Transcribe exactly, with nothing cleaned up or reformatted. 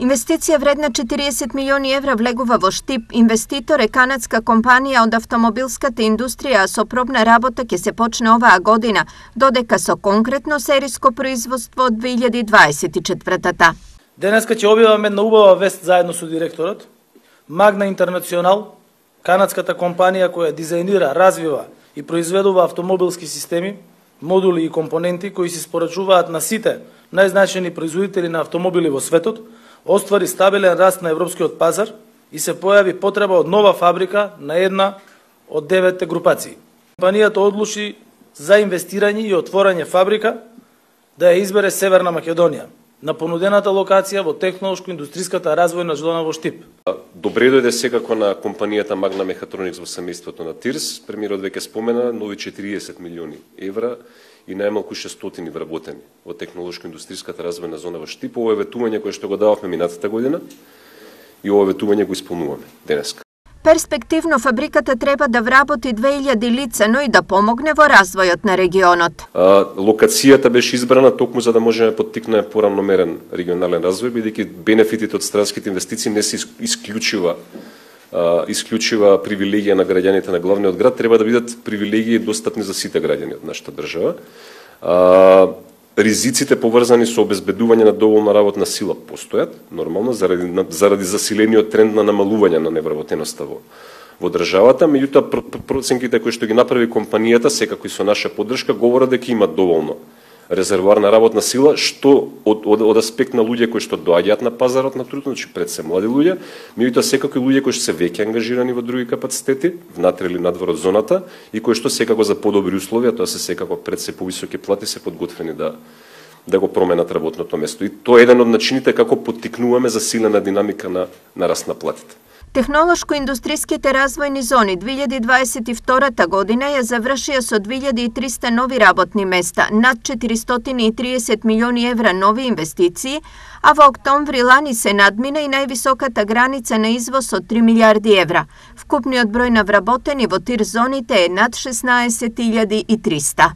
Инвестиција вредна четириесет милиони евра влегува во Штип. Инвеститор е канадска компанија од автомобилската индустрија, а со пробна работа ќе се почне оваа година, додека со конкретно сериско производство од две илјади дваесет и четвртата. Денеска ќе објаваме една убава вест заедно со директорот. Магна Интернационал, канадската компанија која дизајнира, развива и произведува автомобилски системи, модули и компоненти кои се спорачуваат на сите најзначајни производители на автомобили во светот, оствари стабилен раст на европскиот пазар и се појави потреба од нова фабрика на една од деветте групации. Компанијата одлучи за инвестирање и отворање фабрика да ја избере Северна Македонија, на понудената локација во технолошко-индустриската развојна зона во Штип. Добре дојде секако на компанијата Magna Mechatronics во семејството на Тирс. Премиерот веќе спомена нови четириесет милиони евра и најмалку шестстотини вработени во технолошко-индустриската развојна зона во Штип. Ова е ветување кое што го дававме минатата година и ова ветување го исполнуваме денеска. Перспективно фабриката треба да вработи две илјади лица, но и да помогне во развојот на регионот. А, локацијата беше избрана токму за да можеме поттикнеме порамномерен регионален развој, бидејќи бенефитите од странските инвестиции не се исклучува а, исклучува привилегија на граѓаните на главниот град, треба да бидат привилегии достапни за сите граѓани од нашата држава. А, Ризиците поврзани со обезбедување на доволна работна сила постојат, нормално, заради, заради засилениот тренд на намалување на невработеноста во, во државата, меѓутоа проценките кои што ги направи компанијата, секако и со наша поддршка, говорат дека има доволно резервоар на работна сила, што од, од, од аспект на луѓе кои што доаѓаат на пазарот на трудот, значи пред се млади луѓе, меѓутоа секако и луѓе кои што се веќе ангажирани во други капацитети, внатре или надвор од зоната, и кои што секако за подобри услови, тоа се секако пред се повисоки плати, се подготвени да да го променат работното место. И тоа е еден од начините како поттикнуваме засилена динамика на на раст на платите. Технолошко-индустриските развојни зони две илјади дваесет и втората година ја завршија со две илјади и триста нови работни места, над четиристотини и триесет милиони евра нови инвестиции, а во октомври лани се надмина и највисоката граница на извоз од три милијарди евра. Вкупниот број на вработени во тир зоните е над шеснаесет илјади и триста.